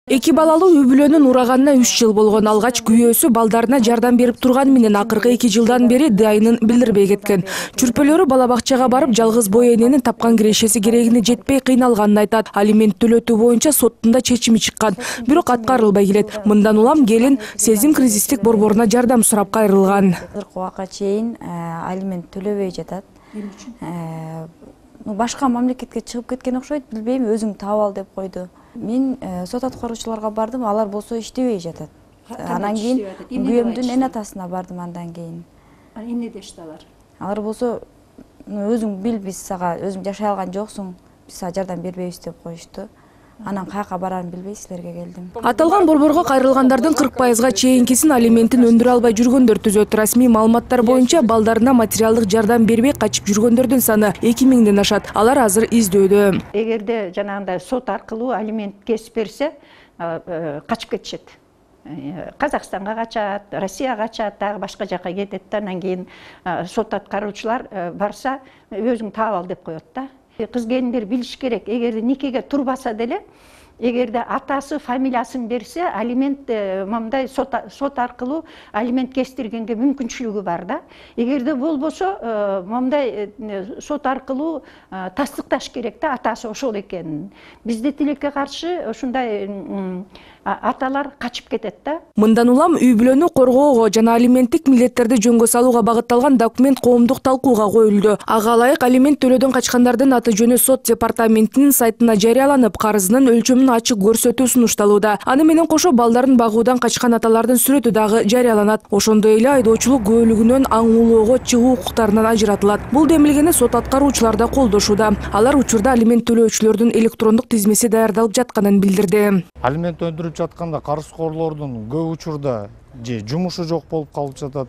Эки балалуу үй бүлөнүн ураганына 3 жыл болгон. Алгач күйөөсү балдарына жардам берип турганы менен акыркы 2 жылдан бери дайынын билдирбей кеткен. Чүрпөлөрү бала бакчага барып, жалгыз бой эненин тапкан кирешеси керегине жетпей кыйналганын айтат. Алимент төлөтүү боюнча соттун да чечими чыккан, бирок аткарылбай келет. Мындан улам келин сезим кризистик борборуна жардам сурап кайрылган. Акыркы убакка чейин алимент төлөбөй жатат. Башка мамлекетке чыгып кеткен окшойт, билбейм, өзүң таап ал деп койду. Мен сот аткаруучуларга бардым, алар болсо иштебей жатат. Анан кийин күйөөмдүн эн атасына бардым андан кийин. Эмне дешти алар? Алар болсо өзүң бил, биз сага өзүң жашай алган жоксуң, биз сага жардам бербейбиз деп коюшту. Анан каяка барарын билбей силерге келдим. Аталган борборго кайрылгандардын 40%га чейинкисин алиментин өндүрө албай жүргөндөр түзөт. Расмий маалыматтар боюнча балдарына материалдык жардам бербей качып жүргөндөрдүн саны 2000ден ашат. Алар азыр издөөдө. Эгерде жанагындай сот аркылуу алимент кесип берсе, качып кетишет. Казакстанга качат, Россияга качат, дагы башка жака кетет да, анан кийин сот аткаруучулар барса, өзүң таап ал деп коет да. Кыз келиндер билиш керек, эгерде никеге турбаса деле, эгерде атасы фамилиясын берсе, алимент мындай сот аркылуу алимент кестиргенге мүмкүнчүлүгү бар да. Эгерде болбосо, мындай сот аркылуу тастыкташ керек да, атасы ошол экенин. Бизде тилекке каршы ушундай аталар качып кетет да. Мындан улам үй бүлөнү коргоого жана алименттик милдеттерди жөнгө салууга багытталган документ коомдук талкууга коюлду. Ага ылайык алимент төлөөдөн качкандардын аты жөнү сот департаментинин сайтына жарыяланып, карызынын өлчөмүн ачык көрсөтүү сунушталууда. Аны менен кошо балдарын багуудан качкан аталардын сүрөтү дагы жарыяланат. Ошондой эле айдоочулук күбөлүгүнөн аң улоого чыгуу укуктарынан ажыратылат. Бул демилгени сот аткаруучулар да колдошууда. Алар учурда алимент төлөөчүлөрдүн электрондук тизмеси даярдалып жатканын билдирди. Алимент өндүрүп жатканда карызкорлордун көп учурда же жумушу жок болуп калып жатат,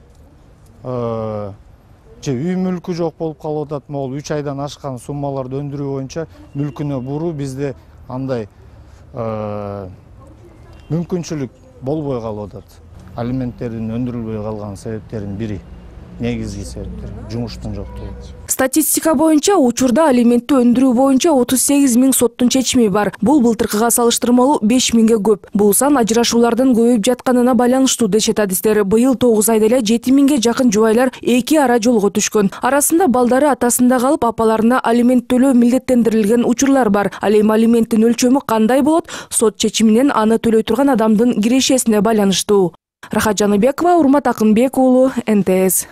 же үй мүлкү жок болуп калып атат. Могул 3 айдан ашкан суммаларды өндүрүү боюнча мүлкүнө буруу бизде андай мүмкүнчүлүк болбой калып атат. Алименттердин өндүрүлбөй калган себептердин бири, негизги себептер жумуштун жоктугу. Статистика боюнча учурда алиментти өндүрүү боюнча 38 000 соттун чечими бар. Бул былтыркыга салыштырмалуу 5 000ге көп. Бул сан ажырашуулардын көбөйүп жатканына байланыштуу дешет адистер. Быйыл 9 айда эле 7 000ге жакын жубайлар 2 ара жолго түшкөн. Арасында балдары атасында калып, апаларына алимент төлөө милдеттендирилген учурлар бар. Ал эми алименттин өлчөмү кандай болот? Сот чечиминен аны төлөй турган адамдын кирешесине байланыштуу. Рахат Жаныбекова, Урмат Акынбек уулу, НТС.